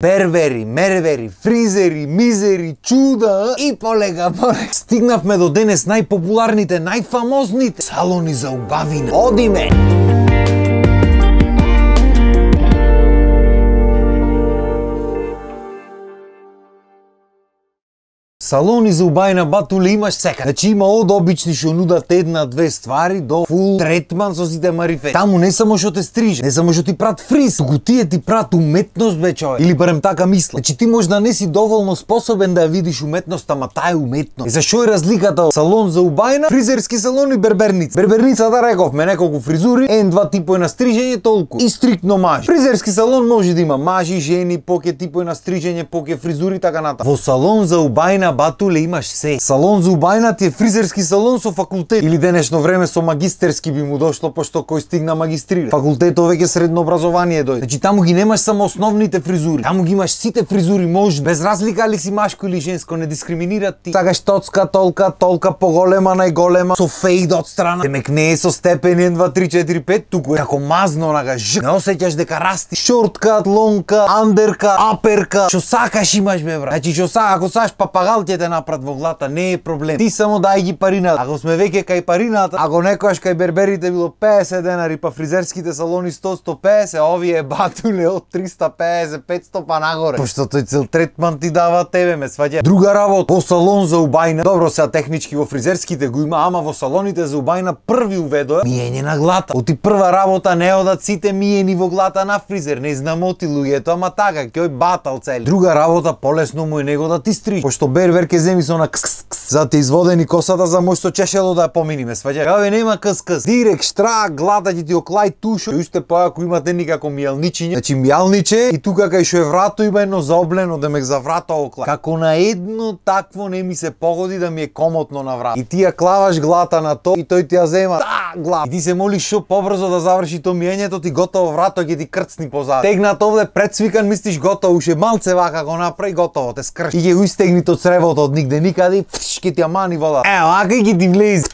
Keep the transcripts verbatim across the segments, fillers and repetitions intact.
Бербери, мербери, фризери, мизери, чуда и полека, полека. Стигнавме до денес најпопуларните, најфамозните салони за убавина. Одиме! Салони за убавина батуле имаш секаде. Значи има од обични што нудат една-две ствари до фул третман со сите марифети. Таму не само што те стриже, не само што ти прат фриз, туку тие ти прат уметност бе човек. Или барем така мислам. Значи ти можда не си доволно способен да ја видиш уметноста, ама таа е уметност. И зашо е разликата од салон за убавина, фризерски салон и берберница. Берберницата рековме неколку фризури, ен-два типови на стрижење толку. И стриктно мажи. Фризерски салон може да има мажи, жени, поке типови на стрижење, поке фризури така натаму. Во салон за убавина батуле имаш се. Салон за убавина ти е фризерски салон со факултет. Или денешно време со магистерски би му дошло, пошто кој стигна магистрира. Факултетот веќе средно образование дојде. Значи таму ги немаш само основните фризури. Таму ги имаш сите фризури може. Без разлика ли си машко или женско, не дискриминираат ти. Сакаш тоцка, толка, толка поголема, најголема, со фейд од страна. Демек не е со степени еден, два, три, четири, пет, туку е како мазно онага ж. Не осеќаш дека расти. Шорткат, лонка, андерка, аперка. Што сакаш имаш бе брат. Значи што сакаш, ако сакаш папагал ќе те напрат во глата, не е проблем. Ти само дај ги парината. Ако сме веќе кај парината, ако некојаш кај берберите било песет денари, па фризерските салони сто до сто песет, овие батуле од триста песет, петсто па нагоре. Пошто тој цел третман ти дава тебе, ме сваѓа. Друга работа, во салон за убавина. Добро, сега технички во фризерските го има, ама во салоните за убавина први уведоа миење на глата. Оти прва работа не одат сите миени во глата на фризер, не знамоти луѓето, ама така, ќе ој батал цели. Друга работа, полесно му е него да ти стриж. Пошто бербер ке земи со на кс кс, за те изводени косата за мој со чешело да ја поминиме, сваѓа. Јаве нема кс кс. Директ штрак, глата ќе ти оклај тушо. И уште поако имате никако мијалничиње. Значи мијалниче и тука кај што е врато има едно заоблено, демек за врато оклај. Како на едно такво не ми се погоди да ми е комотно на врато. И ти ја клаваш глата на то и тој ти ја зема та глата. И ти се молиш што побрзо да заврши то миењето, ти готово врато ќе ти крцни позади. Тегнат овде предсвикан, мислиш готово, уште малце вака го направи готово, те скрш. И ќе го истегни то цревото од нигде никаде, ќе ти ја мани вода. Ево, ака ќе ти влези.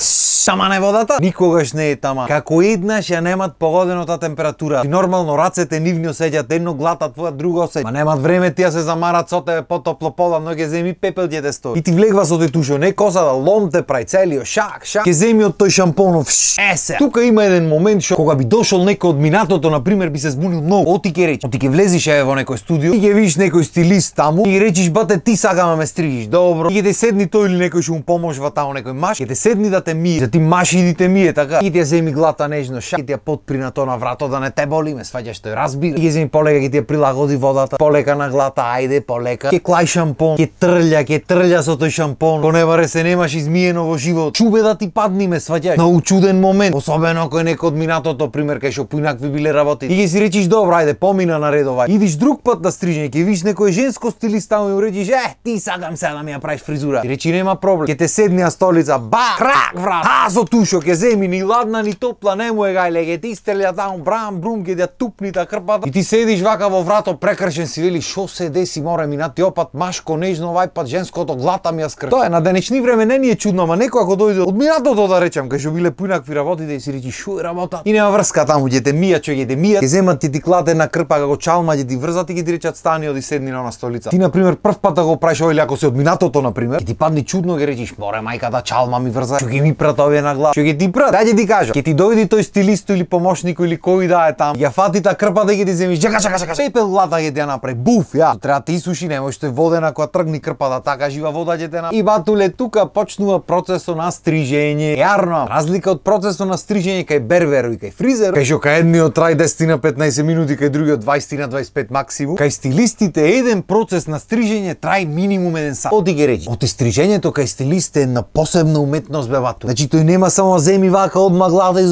Тама не водата? Никогаш не е тама. Како еднаш ја немат погодената температура. И нормално рацете нивни осеќаат едно, глата твоја друго осеќа. Ма немат време тие се замарат со тебе потопло поладно, ќе земи пепел ќе те стои. И ти влегва со тој тушо, не коса да лом те прави целиот шак, шак. Ќе земи од тој шампонов. Есе. Тука има еден момент што кога би дошол некој од минатото, на пример, би се збунил многу. Оти ќе речи, оти ќе влезиш еве во некој студио, и ќе видиш некој стилист таму, и ќе речиш бате ти сакам ме стрижиш. Добро. И ќе те седни тој или некој што му поможува таму некој маш, ќе те седни да те мие. Ти маш иди те мие така. И ќе земи глата нежно, шак, ќе ти ја потпри на тоа на врато да не те боли, ме сваѓаш, тој разбира. И ќе земи полека, ќе ти ја прилагоди водата, полека на глата, ајде полека. Ќе клај шампон, ќе трља, ќе трља со тој шампон. Ко не баре се немаш измиено во живот. Чубе да ти падни, ме сваѓаш. На учуден момент, особено ако е некој од минатото, пример кај што поинакви биле работи. И ќе си речиш добро, ајде помина на редова. Идиш друг пат на стрижење, ќе видиш некој женско стилист таму и му речиш, е, ти сакам сега да ми ја правиш фризура. И речи нема проблем. Ќе те седни на столица, ба, крак, врат, а со тушо ќе земи ни ладна ни топла, не му е гајле, ќе ти истрелја таму брам брум, ќе ја тупни та крпата. И ти седиш вака во врато прекршен си вели шо се деси, мора минати опат машко нежно, овај пат женското глата ми ја скрш. Тоа е на денешни време не ни е чудно, ама некој ако дојде од минатото да речам, кај што биле поинакви работи да си речи шо е работа. И нема врска таму, ќе те мијат, што ќе те мијат, ќе земат ти ти клате на крпа како чалма, ќе ти врзат и ќе ти речат стани оди седни на она столица. Ти на пример прв пат да го правиш овој ако се од минатото на пример, ќе ти падне чудно, ќе речиш море мајка да чалма ми врза, што ќе ми прат овие на глава, што ќе ти прат. Дај ќе ти кажам, ќе ти дојде тој стилист или помошник или кој да е таму, ја фати та крпа да ќе ти земиш, чака чака чака, пепел глата ќе ти ја направи, буф, ја. Треба ти исуши, не може што е водена кога тргни крпата, така жива вода ќе те на. И батуле тука почнува процесот на стрижење. Јарно, разлика од процесот на стрижење кај бербер и кај фризер, кај што кај едниот трај десет на петнаесет минути, кај другиот дваесет на дваесет и пет максимум. Кај стилистите еден процес на стрижење трај минимум еден сат. Оти ќе речи, оти стрижењето кај стилист е на посебна уметност бе бату. Значи тој нема само земи вака одма глата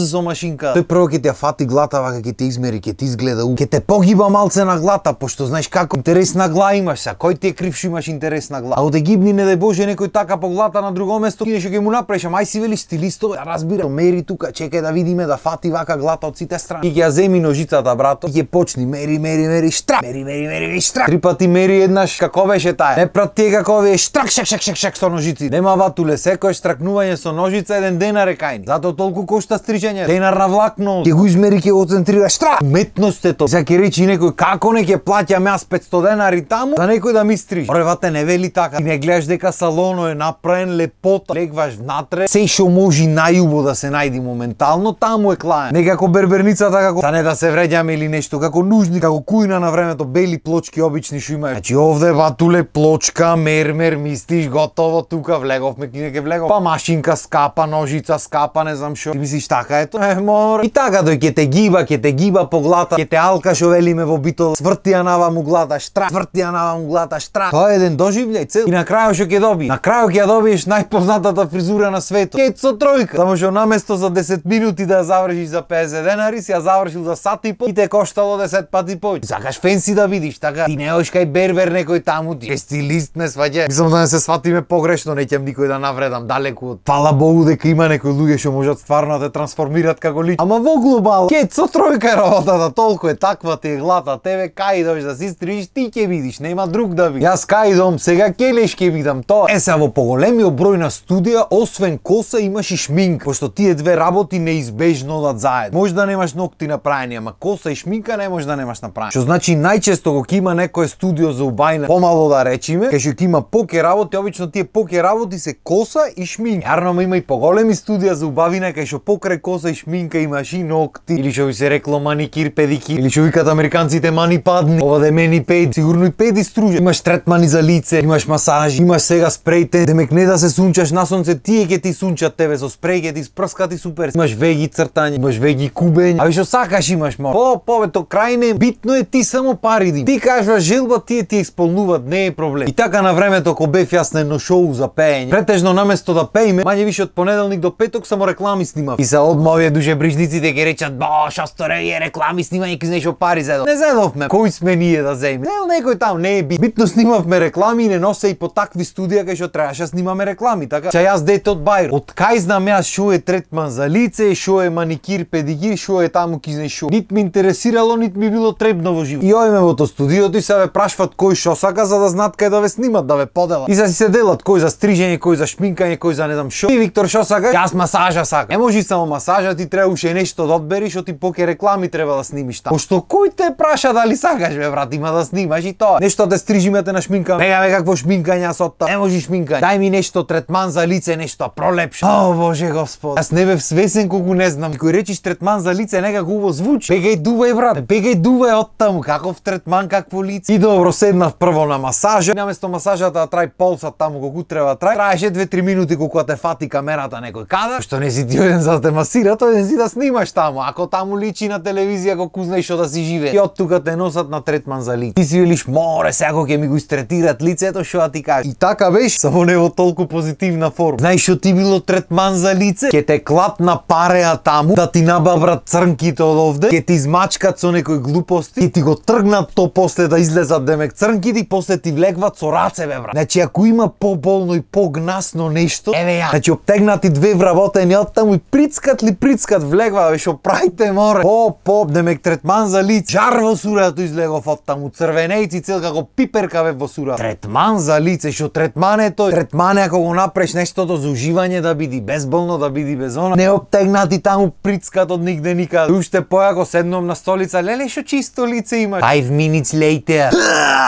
со машинка. Тој прво ќе ти ја фати глата вака, ќе те измери, ќе ти изгледа, ќе те погиба малце на глата, пошто знаеш како интересна глава имаш са, кој ти е крив што имаш интересна глава. А оде гибни не дај Боже некој така по глата на друго место, кине што ќе му направиш, ама ај си вели стилисто, ја разбира, мери тука, чекај да видиме да фати вака глата од сите страни. И ќе ја земи ножицата брато, и ќе почни мери, мери, мери, штра, мери, мери, мери, штра. Три пати мери еднаш, како беше таа. Не прат ти како овие штрак шак шак шак шак со ножици. Нема батуле, секој штракнување со ножица еден денар е кај. Затоа толку кошта стрижење. Денар на влакно. Ќе го измери, ќе го центрира. Штрак. Уметност е тоа. Сега ќе речи некој како не ќе плаќам јас петсто денари таму за некој да ми стрижи. Оревате не вели така. Ти не гледаш дека салоно е направен лепота. Легваш внатре, се што може најубаво да се најди моментално, таму е клаен. Некако берберницата како да не да се вреѓаме или нешто, како нужни, како кујна на времето бели плочки обични што има. Значи овде батуле плочка, мермер, мислиш готово тука влеговме, ќе влегов. Па машинка скапа, ножица скапа, не знам што. Ти мислиш така ето? Е, море. И така дој ќе те гиба, ќе те гиба по глата, ќе те алка што велиме во битол. Свртија нава му глата, штра, свртија нава му глата, штра. Тоа е еден доживљај цел. И на крајот што ќе доби? На крајот ќе добиеш најпознатата фризура на светот. Кецо тројка. Само што наместо за десет минути да ја завршиш за педесет денари, си ја завршил за сат и пол и те коштало десет пати повеќе. Сакаш фенси да видиш, така? Ти не одиш кај бербер некој таму, ти е стилист, не сваѓа. Мислам да не се сватиме погрешно, не ќам никој да навредам далеку. Фала Богу дека има некои луѓе што можат стварно да те трансформират како лич. Ама во глобал, кецо тројка е работата, толку е таква ти е глата, тебе кај идеш да си стрижиш, ти ќе видиш, нема друг да види. Јас кај идам, сега келеш ќе видам тоа. Е сега во поголемиот број на студија, освен коса имаш и шминка, пошто тие две работи неизбежно одат заедно. Може да немаш ногти направени, ама коса и шминка не може да немаш направени. Што значи најчесто кога има некое студио за убајна, помало да речиме, кај што има поке работи, обично тие поке работи се коса и шминка. Јарно има и поголеми студија за убавина кај што покрај коса и шминка имаш и ногти, или што би се рекло маникир, педикир, или што викаат американците мани падни, ова да мени пед, сигурно и педи стружа. Имаш третмани за лице, имаш масажи, имаш сега спрејте, демек не да се сунчаш на сонце, тие ќе ти сунчат тебе со спреј, ќе ти спрскат и супер. Имаш веги цртање, имаш веги кубење, а што сакаш имаш мо. По повето крајне, битно е ти само пари ди. Ти кажуваш желба, тие ти исполнуваат, не е проблем. И така на времето кога бев јас на едно шоу за пеење, претежно наместо да пееме, мање више од понеделник до петок само реклами снимав. И се одма овие душебрижниците ќе речат: "Ба, шо сторе вие реклами снимање, ќе знаеш пари зедов." Не зедовме. Кој сме ние да земе? Не, некој там не е бит. Битно снимавме реклами и не носе и по такви студија кај што требаше да снимаме реклами, така? Че јас дете од Бајр. Од кај знам јас шо е третман за лице, шо е маникир, педикир, шо е таму ки знаеш шо. Нит ме интересирало, нит ми било требно во живот. И ојме во то студиото и се ве прашваат кој шо сака за да знаат кај да ве снимат, да ве поделат. И се си се делат кој за стрижење, кој за шминкање, кој за не знам шо. И Виктор шо сака? Јас масажа сакам. Не може само масажа, ти треба уште нешто да одбериш, што ти поке реклами треба да снимиш таму. Пошто кој те праша дали сакаш бе брат, има да снимаш и тоа. Нешто да стрижиме те на шминка. Нега бе какво шминкање јас од тоа. Не може шминкање. Дај ми нешто третман за лице, нешто пролепшо. О Боже Господ. Јас не бев свесен колку не знам. Кој речиш третман за лице некако убаво звучи. Бегај дувај брат. Бегај дувај од таму. Каков третман, какво лице. И добро седнав прво на масажа. Наместо масажата да трај полсат таму колку треба трај. Траеше две-три минути колку те фати камерата некој кадар. Што не си ти оден за да те масира, тоа не си да снимаш таму. Ако таму личи на телевизија колку знаеш што да си живее. И од тука те носат на третман за лице. Ти си велиш море сега ќе ми го истретират лицето, што да ти кажеш. И така беше, само не во толку позитивна форма. Знаеш што ти било третман за лице? Ке те клапна пареа таму, да ти набаврат црнките од овде, ке ти измачкат со некои глупости, ке ти го тргнат то после да излезат демек црнките и после ти влегват со раце бе брат. Значи ако има поболно и погнасно нешто, еве ја. Значи обтегнати две вработени од таму и прицкат ли прицкат влегва, бе што правите море. По по демек третман за лице. Жар во сурато излегов од таму, црвенејци цел како пиперка бе во сурато. Третман за лице, што третман е тој? Третман е ако го направиш нештото за уживање да биде безболно, да биде без она. Не обтегнати таму прицкат од нигде никаде. Уште појако седнувам на столица, леле што чисто лице имаш. Five minutes later.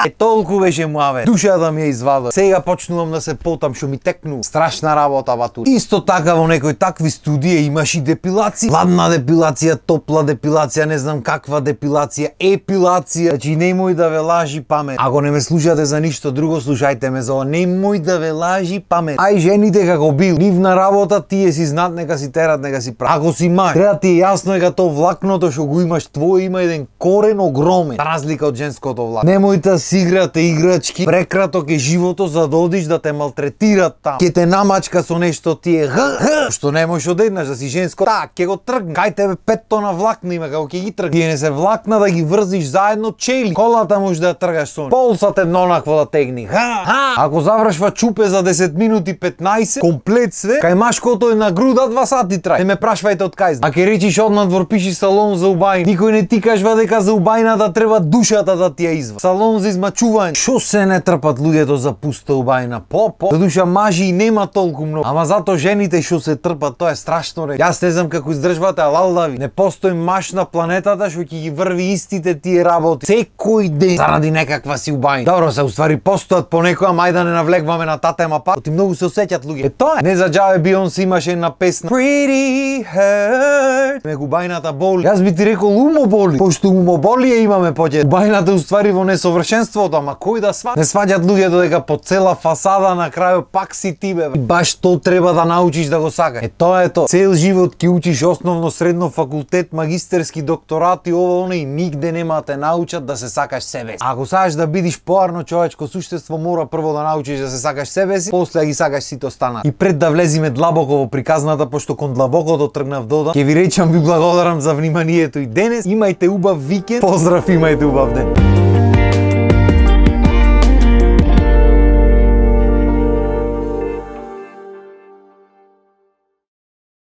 Е толку беше муаве. Душата ми ја извада. Сега почнувам да се потам што ми текну. Страшна работа батури. Исто така во некои такви студија имаш и депилација. Ладна депилација, топла депилација, не знам каква депилација, епилација. Значи немој да ве лажи памет. Ако не ме слушате за ништо друго, слушајте ме за ова. Немој да ве лажи памет. Ај жените како бил. Нивна работа тие си знаат, нека си терат, нека си прават. Ако си маж, треба ти е јасно дека тоа влакното што го имаш твој има еден корен огромен, разлика од женското влакно. Немој да си играте играчки, прекраток е животот за да одиш да те малтретират таму. Ќе те намачка со нешто тие х х, што не можеш одеднаш да си женско. Так, ќе го тргне. Кај тебе пет тона влакна има како ќе ги тргне. Тие не се влакна да ги врзиш заедно чели. Колата можеш да ја тргаш со. Полсат еднонакво да тегни. Ха ха. Ако завршва чупе за десет минути петнаесет, комплет све, кај машкото е на груда два сати трај. Не ме прашвајте од кај знам. А ќе речиш однадвор пиши салон за убајна. Никој не ти кажува дека за убајната треба душата да ти ја извади. Салон за измачување. Шо се не трпат луѓе луѓето запуста убајна по по. За душа мажи и нема толку многу. Ама зато жените што се трпат, тоа е страшно ре. Јас не знам како издржувате, алалдави. Не постои маш на планетата што ќе ги врви истите тие работи секој ден заради некаква си убајна. Добро се уствари постојат понекоја, мај да не навлегваме на тата ема па. Ти многу се осеќат луѓе. Е тоа е. Не за џабе Бионсе имаше една песна Pretty Hurt. Ме убајната боли. Јас би ти рекол умо боли. Пошто умоболие имаме поќе. Убајната уствари во несовршенството, ама кој да сваќа? Не сваќат луѓето дека по цела фасада на крајот пак си ти бе. И баш тоа треба да научиш да го сакаш. Е тоа е тоа. Цел живот ќе учиш основно, средно, факултет, магистерски, докторат и ова она и нигде нема да те научат да се сакаш себе си. Ако сакаш да бидиш поарно човечко суштество, мора прво да научиш да се сакаш себе си, после да ги сакаш сите останати. И пред да влезиме длабоко во приказната, пошто кон длабокото тргнав дода, ќе ви речам ви благодарам за вниманието и денес. Имајте убав викенд. Поздрав, имајте убав ден.